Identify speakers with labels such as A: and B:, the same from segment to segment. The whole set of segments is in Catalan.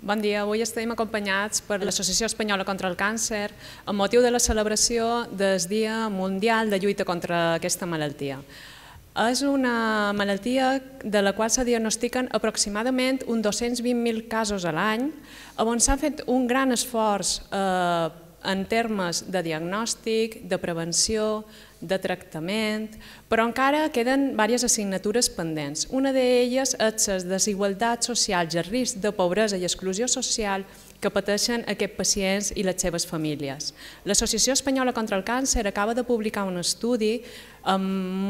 A: Bon dia, avui estem acompanyats per l'Associació Espanyola contra el Càncer amb motiu de la celebració del Dia Mundial de Lluita contra aquesta malaltia. És una malaltia de la qual se diagnostiquen aproximadament uns 220.000 casos a l'any, on s'ha fet un gran esforç en termes de diagnòstic, de prevenció, de tractament, però encara queden diverses assignatures pendents. Una d'elles és les desigualtats socials i el risc de pobresa i exclusió social que pateixen aquests pacients i les seves famílies. L'Associació Espanyola contra el Càncer acaba de publicar un estudi amb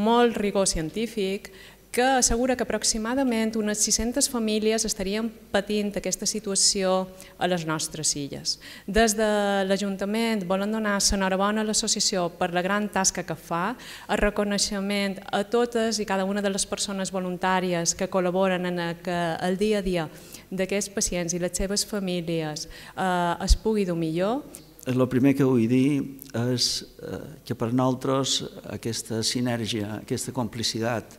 A: molt rigor científic que assegura que aproximadament unes 600 famílies estarien patint aquesta situació a les nostres illes. Des de l'Ajuntament volen donar l'enhorabona a l'associació per la gran tasca que fa, el reconeixement a totes i cada una de les persones voluntàries que col·laboren en que el dia a dia d'aquests pacients i les seves famílies es pugui dur millor.
B: El primer que vull dir és que per nosaltres aquesta sinergia, aquesta complicitat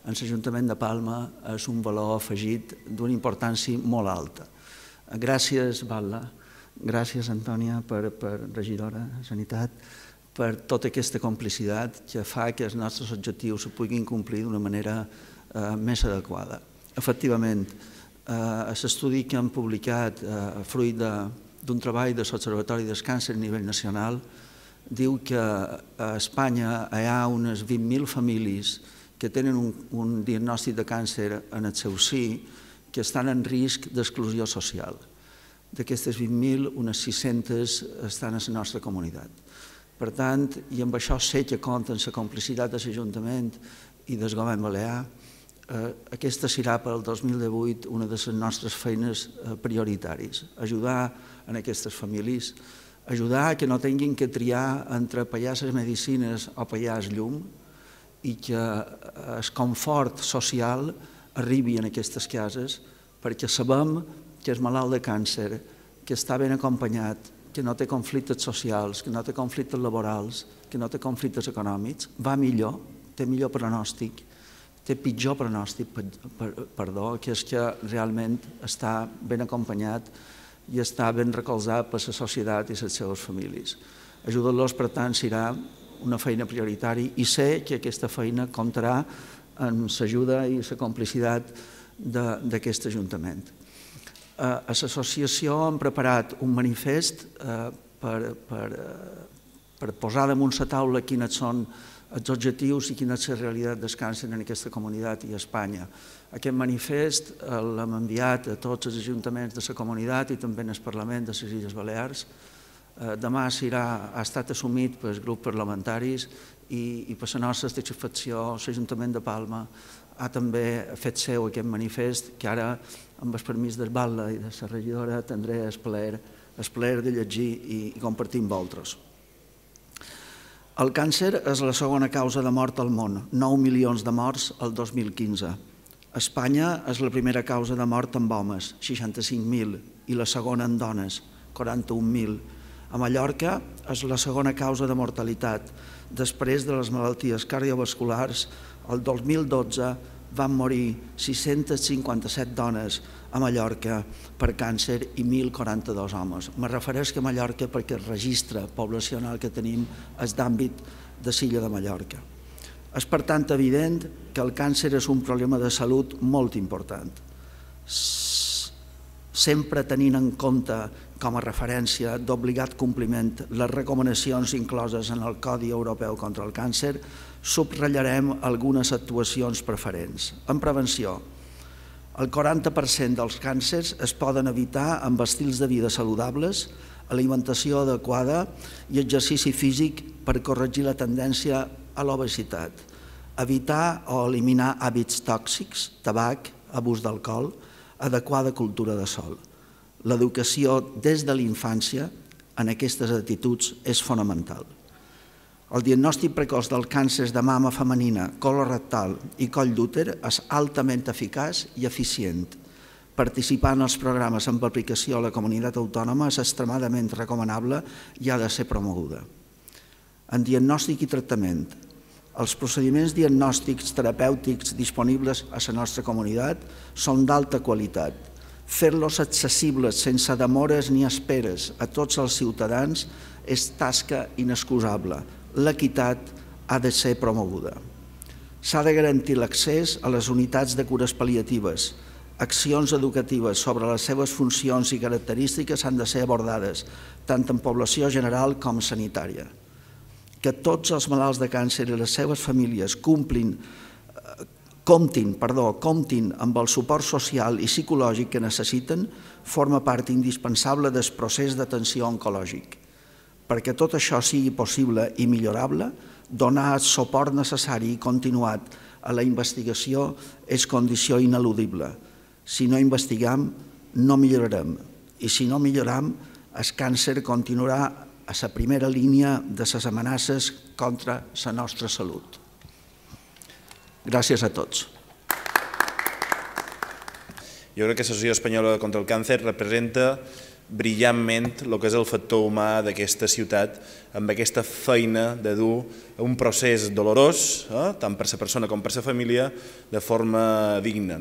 B: en l'Ajuntament de Palma és un valor afegit d'una importància molt alta. Gràcies, Val·la, gràcies, Antònia, regidora de Sanitat, per tota aquesta complicitat que fa que els nostres objectius se puguin complir d'una manera més adequada. Efectivament, l'estudi que hem publicat, fruit d'un treball de l'Observatori del Càncer a nivell nacional, diu que a Espanya hi ha unes 20.000 famílies que tenen un diagnòstic de càncer en el seu si, que estan en risc d'exclusió social. D'aquestes 20.000, unes 600 estan a la nostra comunitat. Per tant, i amb això sé que compta amb la complicitat de l'Ajuntament i del Govern Balear, aquesta serà per al 2018 una de les nostres feines prioritàries. Ajudar a aquestes famílies, ajudar que no tinguin que triar entre pagar les medicines o pagar el llum, i que el confort social arribi en aquestes cases perquè sabem que és malalt de càncer, que està ben acompanyat, que no té conflictes socials, que no té conflictes laborals, que no té conflictes econòmics, va millor, té millor pronòstic, té pitjor pronòstic, que és que realment està ben acompanyat i està ben recolzat per la societat i les seves famílies. Ajudar-los, per tant, serà una feina prioritària i sé que aquesta feina comptarà amb l'ajuda i la complicitat d'aquest Ajuntament. A l'associació hem preparat un manifest per posar damunt la taula quins són els objectius i quina és la realitat del càncer en aquesta comunitat i a Espanya. Aquest manifest l'hem enviat a tots els ajuntaments de la comunitat i també al Parlament de les Illes Balears. Demà ha estat assumit pels grups parlamentaris i per la nostra satisfacció l'Ajuntament de Palma ha també fet seu aquest manifest que ara, amb el permís del Val·la i de la regidora, tindré el plaer de llegir i compartir amb vosaltres. El càncer és la segona causa de mort al món, 9 milions de morts el 2015. Espanya és la primera causa de mort en homes, 65.000, i la segona en dones, 41.000. A Mallorca és la segona causa de mortalitat. Després de les malalties cardiovasculars, el 2012 van morir 657 dones a Mallorca per càncer i 1.042 homes. Me refereixo a Mallorca perquè el registre poblacional que tenim és d'àmbit de l'illa de Mallorca. És per tant evident que el càncer és un problema de salut molt important. Sempre tenint en compte com a referència d'obligat compliment les recomanacions incloses en el Codi Europeu contra el Càncer, subratllarem algunes actuacions preferents. En prevenció, el 40% dels càncers es poden evitar amb estils de vida saludables, alimentació adequada i exercici físic per corregir la tendència a l'obesitat, evitar o eliminar hàbits tòxics, tabac, abús d'alcohol, adequada cultura de sol. L'educació des de la infància en aquestes actituds és fonamental. El diagnòstic precoç del càncer de mama femenina, colorectal i coll d'úter és altament eficaç i eficient. Participar en els programes amb aplicació a la comunitat autònoma és extremadament recomanable i ha de ser promoguda. En diagnòstic i tractament, els procediments diagnòstics terapèutics disponibles a la nostra comunitat són d'alta qualitat, Fer-los accessibles sense demores ni esperes a tots els ciutadans és tasca inexcusable. L'equitat ha de ser promoguda. S'ha de garantir l'accés a les unitats de cures pal·liatives. Accions educatives sobre les seves funcions i característiques han de ser abordades, tant en població general com sanitària. Que tots els malalts de càncer i les seves famílies comptin amb el suport social i psicològic que necessiten forma part indispensable del procés d'atenció oncològic. Perquè tot això sigui possible i millorable, donar el suport necessari i continuat a la investigació és condició ineludible. Si no investiguem, no millorarem. I si no millorem, el càncer continuarà a la primera línia de les amenaces contra la nostra salut. Gràcies a tots.
C: Jo crec que l'Associació Espanyola contra el Càncer representa brillantment el que és el factor humà d'aquesta ciutat, amb aquesta feina de dur un procés dolorós, tant per la persona com per la família, de forma digna.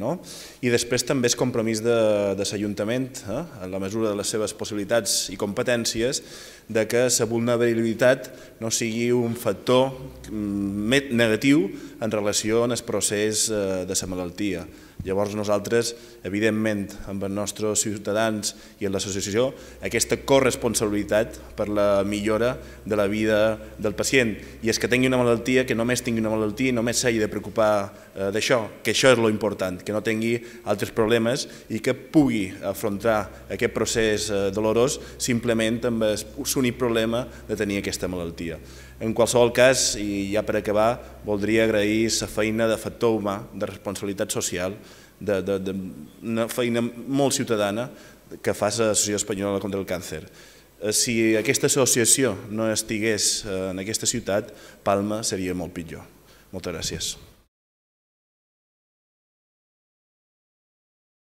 C: I després també és compromís de l'Ajuntament, en la mesura de les seves possibilitats i competències, de que la vulnerabilitat no sigui un factor negatiu en relació amb el procés de la malaltia. Llavors nosaltres, evidentment, amb els nostres ciutadans i amb l'associació, aquesta corresponsabilitat per la millora de la vida del pacient. I és que tingui una malaltia, que només tingui una malaltia i només s'hagi de preocupar d'això, que això és l'important, que no tingui altres problemes i que pugui afrontar aquest procés dolorós simplement amb l'únic problema de tenir aquesta malaltia. En qualsevol cas, i ja per acabar, voldria agrair la feina de factor humà, de responsabilitat social, d'una feina molt ciutadana que fa l'Associació Espanyola contra el Càncer. Si aquesta associació no estigués en aquesta ciutat, Palma seria molt pitjor. Moltes gràcies.